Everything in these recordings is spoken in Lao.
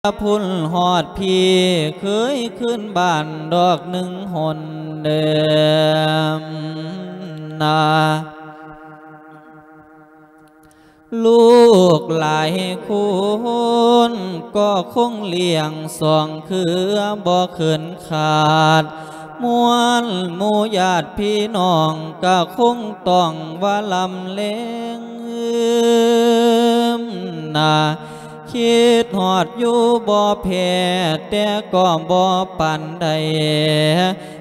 ພຸ້ນຮອດພີ້ ເຄີຍຄືນບ້ານດອກໜຶ່ງຫົນເດີມນາ. ລູກຫຼາຍຄົນກໍຄົງລ້ຽງສອງເຄືອບໍ່ເຂີນຂາດ, ມວນໝູ່ຍາດພີ່ນ້ອງກະຄົງຕ້ອງວ່າລຳແລງນາ. ຄິດຮອດຢູ່ບໍ່ແພ້ ແຕ່ກໍບໍ່ປານໃດ,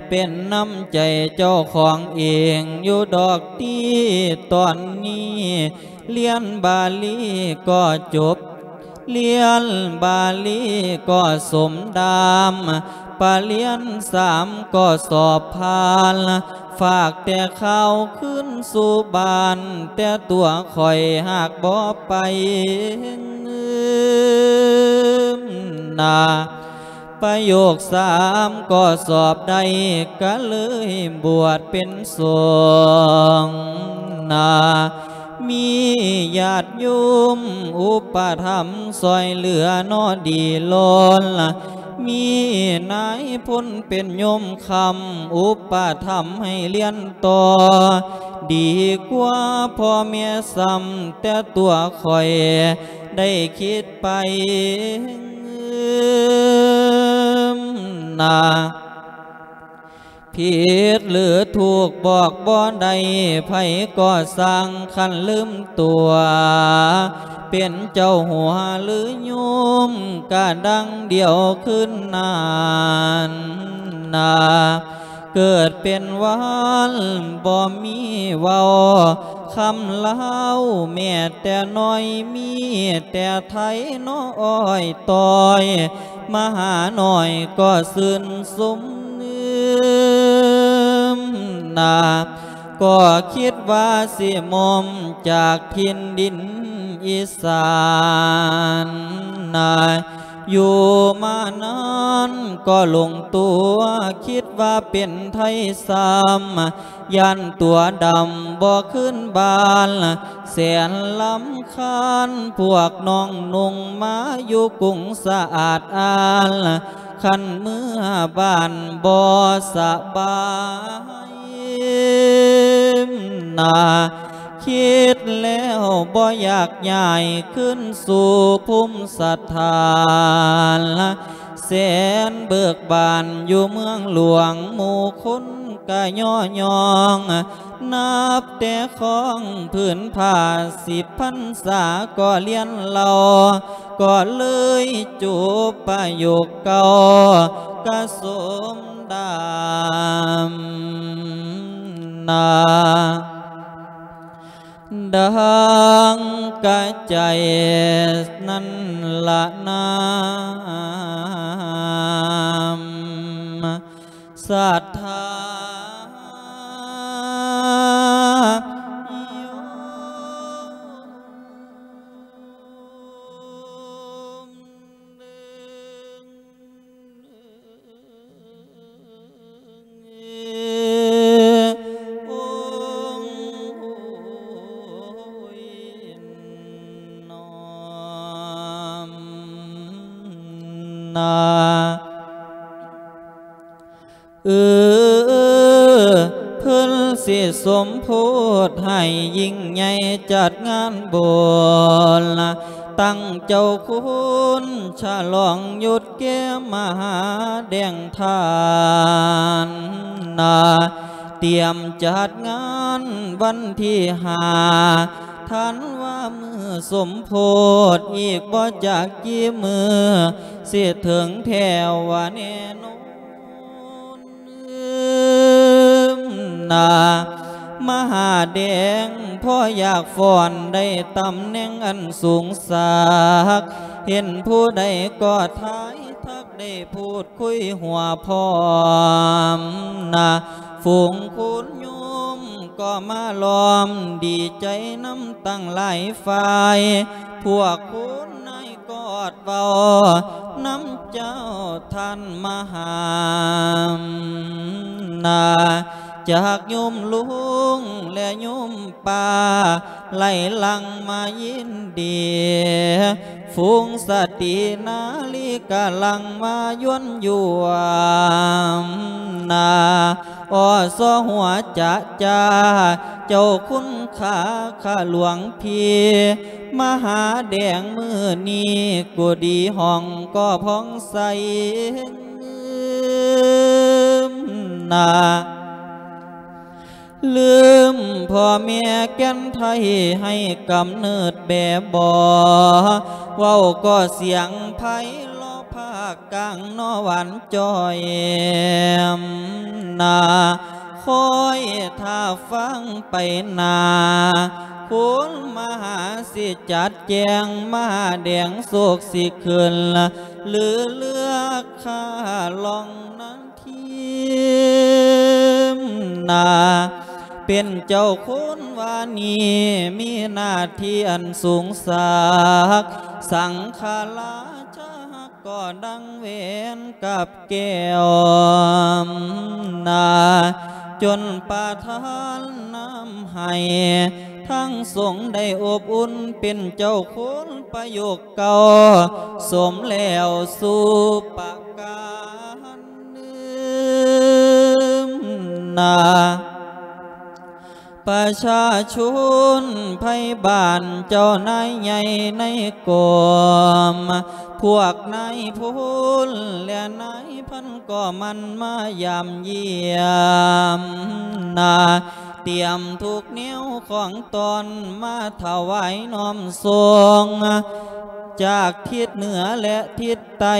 ເປັນນ້ຳໃຈເຈົ້າຂອງເອງຢູ່ດອກຕິ. ຕອນນີ້ລຽນບາລີກໍຈົບ, ລຽນບາລີກໍສົມດາມ, ປະລຽນສາມກໍສອບຜ່ານ. ຝາກແຕ່ຂ່າວຄືນສູ່ບ້ານ, ແຕ່ຕົວຂ້ອຍຫາກບໍ່ໄປນາ. ປະໂຫຍກສາມກໍສອບໄດ້, ກະເລີຍບວດເປັນສົງນາ. ມີຍາດໂຍມອຸປະຖຳຊ່ອຍເຫຼືອໜໍ່ດີລົ້ນ, ມີນາຍພົນເປັນໂຍມຄ້ຳອຸປະຖຳໃຫ້ລຽນຕໍ່, ດີກວ່າພໍ່ແມ່ຊ້ຳແຕ່ຕົວຂ້ອຍໄດ້ຄິດໄປນາ. ຜິດຫຼືຖືກບອກບໍ່ໄດ້, ໃຜກໍຊ່າງຄັນລືມຕົວ, ເປັນເຈົ້າຫົວຫຼືໂຍມກະດັ່ງດຽວຄືນນັ້ນນາ. ເກີດເປັນວັນບໍ່ມີເວົ້າຄຳລາວແມ້ແຕ່ນ້ອຍ, ມີແຕ່ໄທເນາະອ້ອຍຕ້ອຍ ມະຫານ້ອຍກໍຊື່ນຊົມນາ. ກໍຄິດວ່າຊິໝົມຈາກຖິ່ນດິນອີສານນາ, ຢູ່ມານານກໍຫຼົງຕົວ ຄິດວ່າເປັນໄທຊ້ຳ ຢ້ານຕົວດຳບໍ່ຄືນບ້ານ. ແສນລຳຄານພວກນ້ອງນຸ່ງມາຢູ່ກຸງສະອາດອານ, ຄັນເມືອບ້ານບໍ່ສະບາຍນາ. ຄິດແລ້ວບໍ່ຢາກຍ້າຍຄືນສູ່ພູມສະຖານ, ແສນເບີກບານຢູ່ເມືອງຫຼວງ ໝູ່ຄົນກະຍໍຍ້ອງ. ນັບແຕ່ຄອງຜືນຜ້າສິບພັນສາກໍລຽນເລົ່າ, ກໍເລີຍຈົບປະໂຫຍກເກົ່າກະສົມດຳນາ. ດັ່ງກະໃຈນັ້ນລະນາມ ສັດທາໂຍມ ນາ ເອີ ເພິ່ນຊິສົມໂພດໃຫ້ຍິ່ງໃຫຍ່ຈັດງານບຸນ ຕັ້ງເຈົ້າຄຸນ ສະຫຼອງຍົດແກ່ມະຫາແດງທ່ານນາ. ຕຽມຈັດງານວັນທີຫ້າ ທັນວາ ມື້ສົມໂພດ ອີກບໍ່ຈັກກີ່ມື້ ຊິເຖິງແທ້ວ່າແນ່ນອນນາ. ມະຫາແດງພໍຢາກຟ້ອນ ໄດ້ຕຳແໜ່ງອັນສູງສັກ ເຫັນຜູ້ໃດກໍທາຍທັກ ໄດ້ພູດຄຸຍຫົວພ້ອມນາ. ຝູງຄຸນໂຍມກໍມາລ້ອມ ດີໃຈນຳຕັ້ງຫຼາຍຝ່າຍ ພວກຄຸນນາຍກອດເວົ້ານຳເຈົ້າທ່ານມະຫານາ. ຈາກໂຍມລຸງ ແລະ ໂຍມປ້າ ໄຫຼຫຼັງມາຍິນດີ ຝູງສະຕີນາລີກາລັງມາຢວນຢວມນາ ອສຫົວຈະຈາ ເຈົ້າຄຸນຄ່າຂ້າຫຼວງພີ່ ມະຫາແດງມື້ນີ້ ກຸດີຫ້ອງກໍຜ່ອງໃສ ນາ ລືມພໍ່ແມ່ແກ່ນໄທໃຫ້ກຳເນີດແບບໍ ເວົ້າກໍສຽງໄພເລາະພາກກາງນໍຫວານຈ່ອຍ ນາ ຄອຍຖ້າຟັງໄປໜ້າ ຄຸນມະຫາຊິຈັດແຈງ ມະຫາແດງໂສກຊິຂຶ້ນ ຫຼືເລືອກຂ້າລອງນາ ທີມນາ ເປັນເຈົ້າຄຸນວານີ ມີໜ້າທີ່ອັນສູງສັກ ສັງຄະລາຊາຮັກກໍດັງແຫວນກັບແກ້ວນາ ຈົນປະທານນຳໃຫ້ ທັງສົງໄດ້ອົບອຸ່ນ ເປັນເຈົ້າຄຸນປະໂຍກເກົ່າ ສົມແລ້ວສູ່ປະການໜຶ່ງນາ ປະຊາຊົນໄພບ້ານ ເຈົ້ານາຍໃຫຍ່ໃນກອມ ພວກນາຍພົນ ແລະນາຍພັນ ກໍໝັ່ນມາຢາມຢ້ຽມນາ ຕຽມທຸກແນວຂອງຕ້ອນມາຖວາຍນ້ອມສົ່ງ ຈາກທິດເໜືອ ແລະ ທິດໃຕ້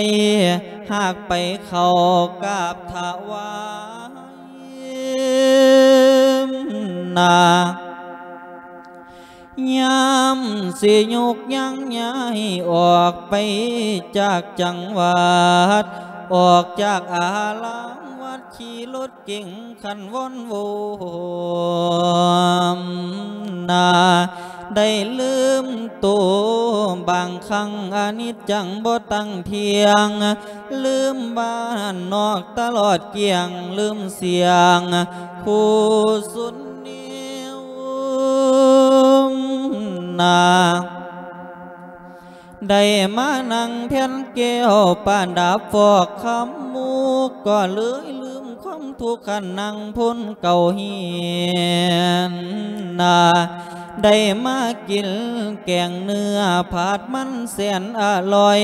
ຫາກໄປເຂົ້າກາບຖວາຍນາ ຍາມຊິຍົກຍ່າງຍ້າຍອອກໄປຈາກຈັງຫວັດ ອອກຈາກອາລາມວັດ ຂີ່ລົດເກັງຄັນວອນໂວນາ ໄດ້ລືມໂຕບາງຄັ້ງ ອະນິດຈັງບໍ່ຕັ້ງທ່ຽງ ລືມບ້ານນອກຕະຫຼອດກ້ຽງ ລືມສຽງຄູສຸນນິວນາ ໄດ້ມານັ່ງແທ່ນແກ້ວປະດັບຟອກຄຳ ໝູ່ກໍເລີຍລືມຄວາມທຸກ ຄັນນັ່ງພົນເກົ່າຮຽນນາ ໄດ້ມາກິນແກງເນື້ອຜັດມັນແສນອະລ່ອຍ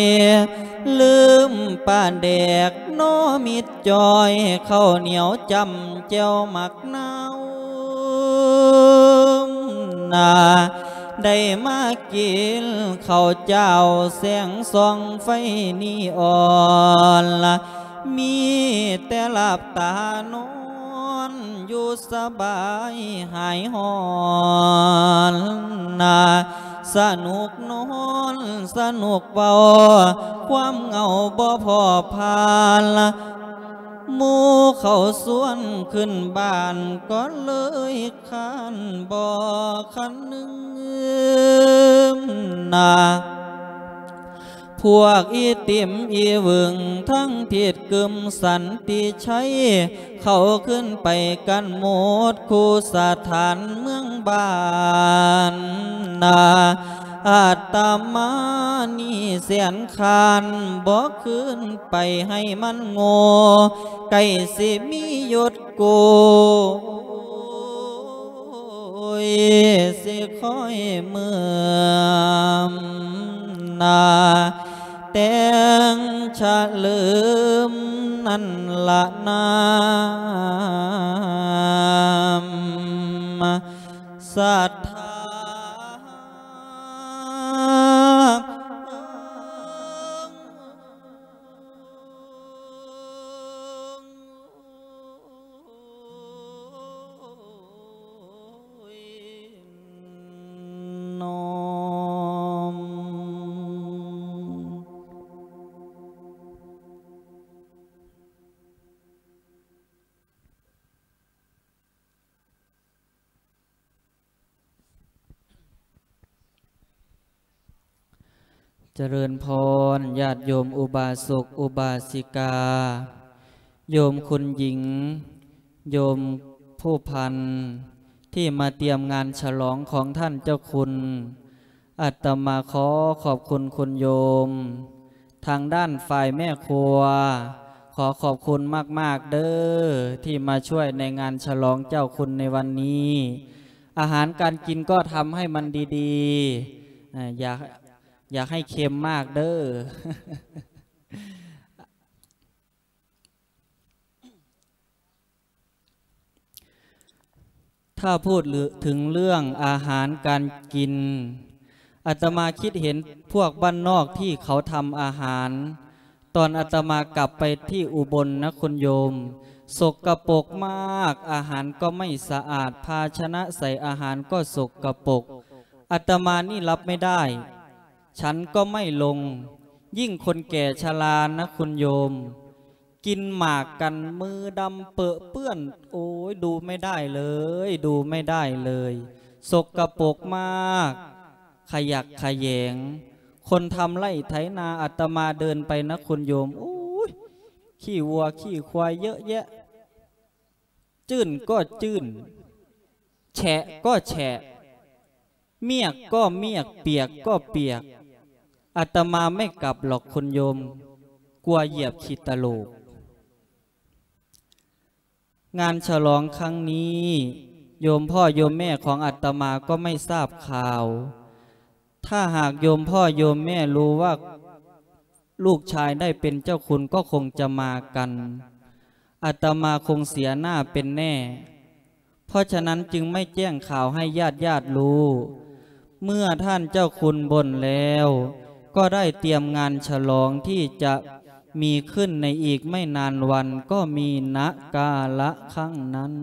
ລືມປາແດກນໍມິດຈ່ອຍ ເຂົ້າໜຽວຈ້ຳແຈ່ວໝາກນາວນາ ໄດ້ມາກິນເຂົ້າຈ້າວແສງສ່ອງໄຟນີອອນ ມີແຕ່ຫຼັບຕານອນຢູ່ສະບາຍຫາຍຮ້ອນນາ ສະໜຸກນອນສະໜຸກເວົ້າ ຄວາມເຫງົາບໍ່ພໍຜ່ານ ໝູ່ເຂົາຊວນຂຶ້ນບ້ານ ກໍເລີຍຄ້ານບໍ່ຄັນນຶງນາ ພວກອີຕິມອີວຶງ ທັງທິດກຶມສັນຕິໄຊ ເຂົາຂຶ້ນໄປກັນໝົດຄູ່ສະຖານເມືອງບ້ານນາ ອາດຕະມານີ້ແສນຄານ ບໍ່ຄືນໄປໃຫ້ມັນໂງ່ ໃກ້ຊິມີຍົດໂກຍ ຊິຄອຍເມືອມນາ ແຕ່ງຊະເຫຼີມນັ້ນລະນາມສັດທາ. ຈະເລີນພອນ ຍາດໂຍມອຸບາສົກອຸບາສິກາ, ໂຍມຄຸນຍິງ, ໂຍມຜູ້ພັນ ທີ່ມາຕຽມງານສະຫຼອງຂອງທ່ານເຈົ້າຄຸນ. ອາດຕະມາຂໍຂອບຄຸນຄຸນໂຍມ ທາງດ້ານຝ່າຍແມ່ຄົວ ຂໍຂອບຄຸນມາກໆເດີ້ ທີ່ມາຊ່ວຍໃນງານສະຫຼອງເຈົ້າຄຸນໃນວັນນີ້. ອາຫານການກິນກໍທຳໃຫ້ມັນດີໆ ອາ ຢ່າ ຢ່າໃຫ້ເຄັມມາກເດີ້. ຖ້າພູດເຖິງເລື່ອງອາຫານການກິນ ອາດຕະມາຄິດເຫັນພວກບ້ານນອກທີ່ເຂົາທຳອາຫານ ຕອນອາດຕະມາກັບໄປທີ່ອຸບົນນະຄຸນໂຍມ ສົກກະປົກມາກ ອາຫານກໍໄມ່ສະອາດ ພາຊະນະໃສ່ອາຫານກໍສົກກະປົກ ອາດຕະມານີ້ຮັບໄມ່ໄດ້ ສັນກໍໄມ່ລົງ ຍິ່ງຄົນແກ່ຊະລານະຄຸນໂຍມ ກິນໝາກກັນມືດຳເປິເປື້ອນ ໂອ້ຍ ດູໄມ່ໄດ້ເລີຍ ດູໄມ່ໄດ້ເລີຍ ສົກກະປົກມາກ ຂະຫຍັກຂະແຫຍງ ຄົນທຳໄຮ່ໄຖນາ ອາດຕະມາເດີນໄປນະຄຸນໂຍມ ໂອ້ຍ ຂີ້ວັວຂີ້ຄວາຍເຍີະແຍະ ຈື້ນກໍຈື້ນ ແຊະກໍແຊະ ມຽກກໍມຽກ ປຽກກໍປຽກ ອາດຕະມາໄມ່ກັບຫຼອກຄຸນໂຍມ ກົວຢຽບຂີ້ຕະໂຫຼກ. ງານສະຫຼອງຄັ້ງນີ້ ໂຍມພໍ່ໂຍມແມ່ຂອງອາດຕະມາກໍໄມ່ຊາບຂ່າວ. ຖ້າຫາກໂຍມພໍ່ໂຍມແມ່ຮູ້ວ່າລູກຊາຍໄດ້ເປັນເຈົ້າຄຸນກໍຄົງຈະມາກັນ ອາດຕະມາຄົງເສຍໜ້າເປັນແນ່. ເພາະສະນັ້ນຈຶ່ງໄມ່ແຈ້ງຂ່າວໃຫ້ຍາດໆຮູ້. ເມື່ອທ່ານເຈົ້າຄຸນບົນແລ້ວ ກໍໄດ້ຕຽມງານສະຫຼອງທີ່ຈະມີຂຶ້ນໃນອີກໄມ່ນານວັນ ກໍມີນະກາລະຄັ້ງນັ້ນ.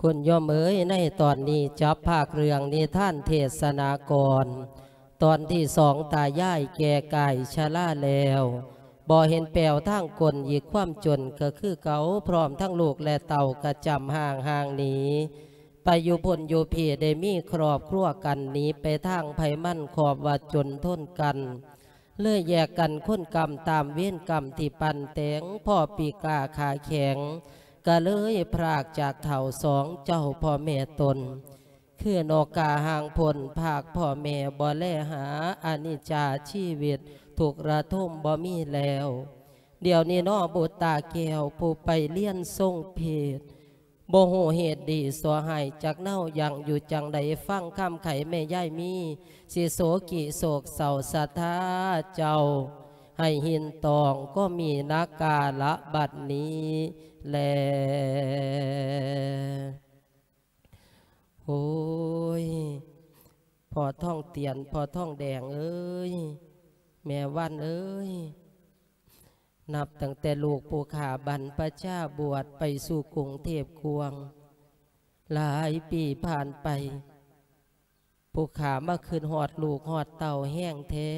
ຄຸນໂຍມເອີຍ ໃນຕອນນີ້ຈັບພາກເລື່ອງນິທານເທດສະນາກອນ ຕອນທີສອງ ຕາຍາຍແກ່ກາຍຊະລາແລ້ວ ບໍ່ເຫັນແປວທາງກົ້ນ ອີກຄວາມຈົນກໍຄືເກົ່າ ພ້ອມທັງລູກແລະເຕົ້າກະຈຳຮ່າງຫ່າງໜີ ໄປຢູ່ພຸ້ນຢູ່ພີ້ ໄດ້ມີຄອບຄົວກັນ ໜີໄປທາງໃຜມັນ ຄອບວ່າຈົນທົນກັນ ເລີຍແຍກກັນຄົນກຳຕາມເວນກຳທີ່ປັ້ນແຕ່ງ ພໍປີກາຂາແຂງ ກະເລີຍພຣາກຈາກເຖົ້າສອງເຈົ້າພໍ່ແມ່ຕົນ ຄືນົກກາຫາງພົ່ນ ພາກພໍ່ແມ່ບໍ່ແລຫາ ອະນິດຈາຊີວິດທຸກລະທົມບໍ່ມີແລ້ວ. ດຽວນີ້ນໍບຸດຕາແກ້ວ ຜູ້ໄປລຽນຊົງເພດ ບໍ່ຮູ້ເຫດດີຊົ່ວຮ້າຍຈັກເນົາ ຍັງຢູ່ຈັ່ງໃດ ຟັງຄຳໄຂແມ່ຍາຍມີ ຊິໂສກິໂສກເສົ້າສະທາເຈົ້າ ໃຫ້ຫີນຕອງກໍມີນະກາລະບັດນີ້ແລ. ໂອ້ຍ ພໍ່ທອງຕຽນ ພໍ່ທອງແດງເອີຍ ແມ່ວັນເອີຍ ນັບຕັ້ງແຕ່ລູກຜູ້ຂ້າບັນພະຊາບວດໄປສູ່ກຸງເທບກວາງ ຫຼາຍປີຜ່ານໄປ ຜູ້ຂ້າມາຄຶດຮອດລູກຮອດເຕົ້າແຮງແທ້.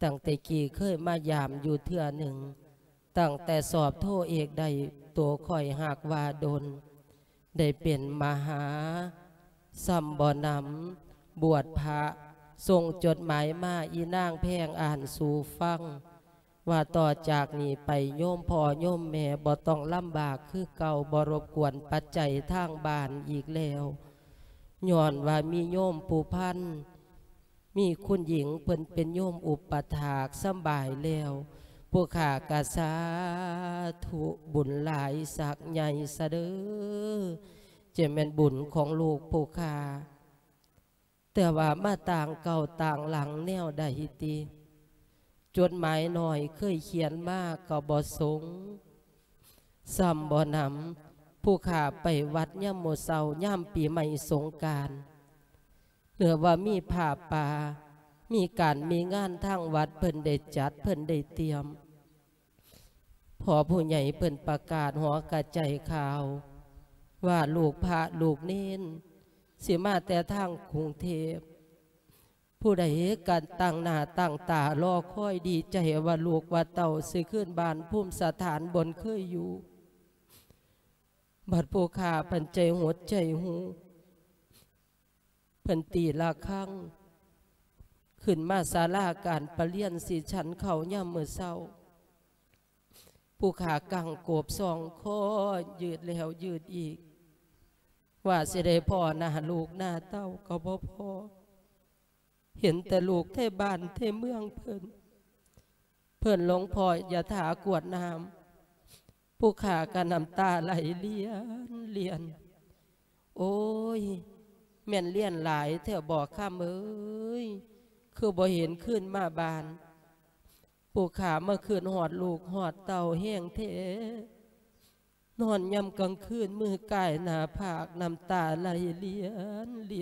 ຕັ້ງແຕ່ກີ້ເຄີຍມາຢາມຢູ່ເທື່ອໜຶ່ງ ຕັ້ງແຕ່ສອບໂທເອກໄດ້ ໂຕຂ້ອຍຮັກວ່າດົນ ໄດ້ເປັນມະຫາ ຊ່ຳບໍ່ໜຳ ບວດພະ ສົ່ງຈົດໝາຍມາ ອີນາງແພງອ່ານສູ່ຟັງ ວ່າຕໍ່ຈາກນີ້ໄປ ໂຍມພໍ່ໂຍມແມ່ບໍ່ຕ້ອງລຳບາກຄືເກົ່າ ບໍ່ລົບກວນປັດໄຈທາງບ້ານອີກແລ້ວ ຍ້ອນວ່າມີໂຍມຜູ້ພັນ ມີຄຸນຍິງເພິ່ນເປັນໂຍມອຸປະຖາກສຳບາຍແລ້ວ ຜູ້ຂ້າກະສາທຸບຸນຫຼາຍສັກໃຫຍ່ຊະເດີ້ ຈະແມ່ນບຸນຂອງລູກຜູ້ຂ້າ ແຕ່ວ່າມາຕ່າງເກົ່າຕ່າງຫຼັງແນວໃດຕິ ຈົດໝາຍນ້ອຍເຄີຍຂຽນມາກໍບໍ່ສົ່ງ ຊ່ຳບໍ່ໜຳ ຜູ້ຂ້າໄປວັດຍາມມື້ເຊົ້າ ຍາມປີໃໝ່ສົງການ ຫຼືວ່າມີຜ້າປ່າ ມີການມີງານທາງວັດເພິ່ນໄດ້ຈັດ ເພິ່ນໄດ້ຕຽມ ພໍ່ຜູ້ໃຫຍ່ເພິ່ນປະກາດຫໍກະໄຈຂ່າວ ວ່າລູກພະລູກເນນ ຊິມາແຕ່ທາງກຸງເທບ ຜູ້ໃດກະຕັ້ງໜ້າຕັ້ງຕາລໍຄອຍດີໃຈວ່າລູກວ່າເຕົ້າຊິຄືນບ້ານພູມສະຖານບ່ອນເຄີຍຢູ່ ບັດຜູ້ຂ້າພັນໃຈຫົດໃຈຫູ ເພິ່ນຕີລະຄັງ ຂຶ້ນມາສາລາການປະລຽນ ຊິສັນເຂົ້າຍາມມື້ເຊົ້າ ຜູ້ຂ້າກັ້ງໂກບສອງຄໍ ຍືດແລ້ວຍືດອີກ ວ່າຊິໄດ້ພໍ້ໜ້າລູກໜ້າເຕົ້າກໍບໍ່ພໍ້ ເຫັນແຕ່ລູກແຕ່ບ້ານແຕ່ເມືອງເພິ່ນ ເພິ່ນລົງພໍ້ຢາຖາກວດນ້ຳ ຜູ້ຂ້າກໍນ້ຳຕາໄຫຼຫຼຽນໆ. ໂອ້ຍ ແມ່ນຫຼຽນຫຼາຍແທ້ບໍຄຳເອີຍ ຄືບໍ່ເຫັນຄືນມາບ້ານ ຜູ້ຂ້າມາຄຶດຮອດລູກຮອດເຕົ້າແຮງແທ້ ນອນຍາມກາງຄືນມືກາຍໜ້າຜາກ ນ້ຳຕາໄຫຼຫຼ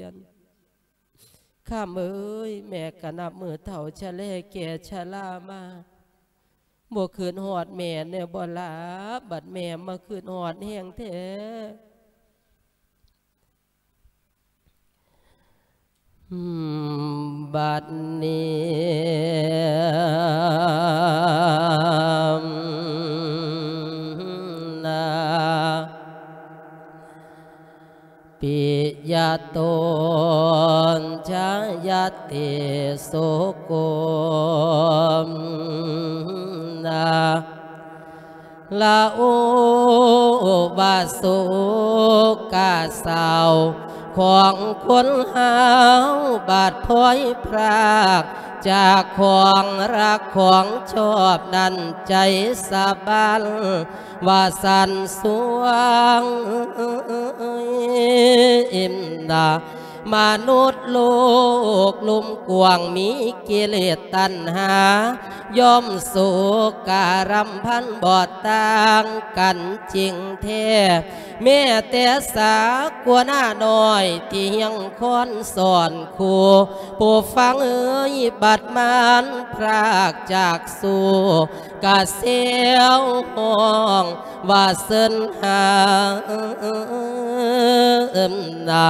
ຽນໆ. ຄຳເອີຍ ແມ່ກະນັບມື້ເຖົ້າຊະແລແກ່ຊະລາມາ ບໍ່ຄຶດຮອດແມ່ແນ່ບໍລະ ບັດແມ່ມາຄຶດຮອດແຮງແທ້. ບັດນີ້ນາ ປິຍະໂຕນຊະຍະຕິສຸໂກນາ ລະໂອວາສຸກກະເສົ້າຂອງຄົນເຮົາ ບາດພອຍພຣາກຈາກຂອງຮັກຂອງຊອບນັ້ນ ໃຈສະບັນວ່າສັນສວງ ມະນຸດໂລກລຸ່ມກວ້າງ ມີກິເລດຕັນຫາ ຍ່ອມໂສກະລຳພັນບໍ່ຕ່າງກັນຈິງແທ້ ແມ້ແຕ່ສາກົນານ້ອຍທີ່ຮຽງຄອນສອນຄູ່ ຜູ້ຟັງເອີຍ ບັດມານພຣາກຈາກສູ່ ກະແຊວຮ້ອງວ່າເຊີນຫາ ນາ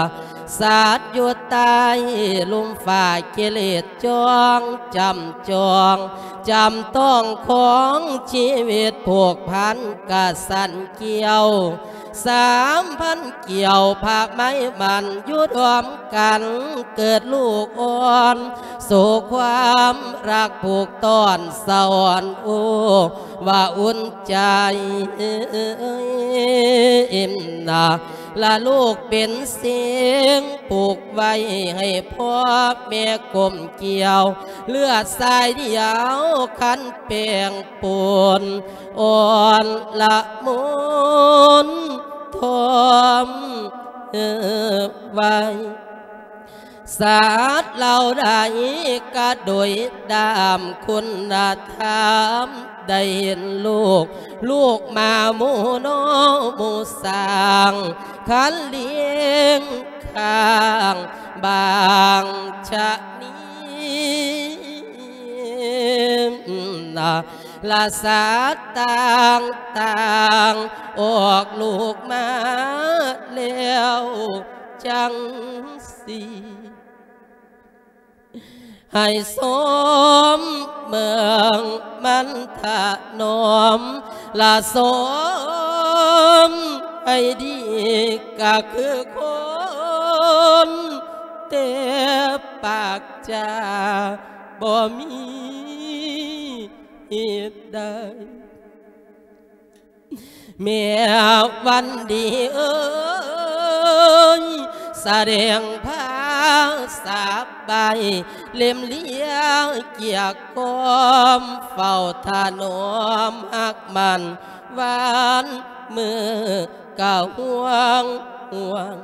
ສັດຢູ່ໃຕ້ລຸ່ມຟ້າກິເລດຈ້ອງ ຈຳຈອງ ຈຳຕ້ອງຂອງຊີວິດ ຜູກພັນກະສັນກ່ຽວ ສາມພັນກ່ຽວພະໄມມັນຢູ່ຮ່ວມກັນ ເກີດລູກອ່ອນ ສູ່ຄວາມຮັກຜູກຕ້ອນສະອອນ ໂອ້ ວ່າອຸ່ນໃຈ ນາ ລະລູກເປັນເສງ ຜູກໄວ້ໃຫ້ພໍ່ແມ່ກົ້ມກ່ຽວ ເລືອດສາຍດຽວຄັນແປ້ງປົນ ອ່ອນລະມຸນທອມໄວ້ ສັດເຫຼົ່າໃດກະໂດຍດາມຄຸນນະທຳ ໄດ້ເຫັນລູກ ລູກໝາໝູໜໍໝູຊ້າງ ຄັນລ້ຽງຂ້າງບາງຊະນີ ລະສັດຕ່າງໆ ອອກລູກມາແລ້ວຈັ່ງຊີ້ ໃຫ້ສົມເບິ່ງມັນຖະໜອມ ລະສົມໃຫ້ດີກະຄືຄົນ ແຕ່ປາກຈາບໍ່ມີ ເຮັດໄດ້ ແມ່ວັນດີເອີຍ ສະແດງພາສາບໃບ ເຫຼັ້ມເລຍກຽກກອມ ເຝົ້າຖະໜອມຮັກໝັ້ນ ວານມື້ກະຫ່ວງຫ່ວງ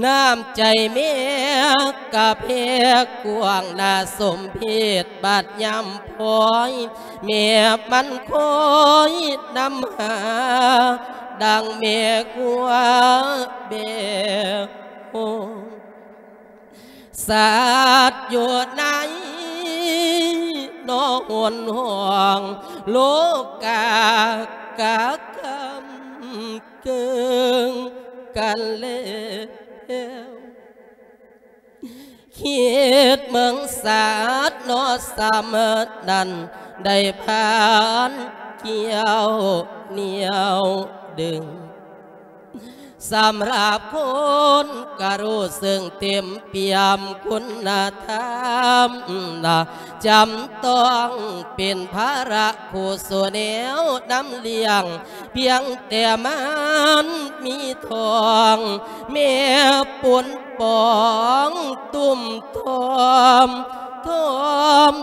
ນ້ຳໃຈແມ່ກະແຜ່ກວ້າງ ໜ້າສົມເພດບາດຍາມພອຍ ແມ່ມັນຄອຍນຳຫາ ດັ່ງແມ່ງົວແບໂຮງ ສັດຢູ່ໃນໜໍຫົນຫ້ອງ ໂລກາກະກຳ ເກີງກັນແລ້ວ ຄິດເບິ່ງສັດເນາະ ສ່ຳນັ້ນໄດ້ຜ່ານກ່ຽວໜຽວດຶງ ສຳລັບຄົນກະຮູ້ເຊິ່ງເຕັມປ່ຽມຄຸນນະທຳນະ ຈຳຕ້ອງເປັນພາລະຄູ່ສູ່ແນວນຳລ້ຽງ ພຽງແຕ່ມານມີທ້ອງ ແມ່ປົນປອງຕຸ້ມທ້ອມ ທ້ອມ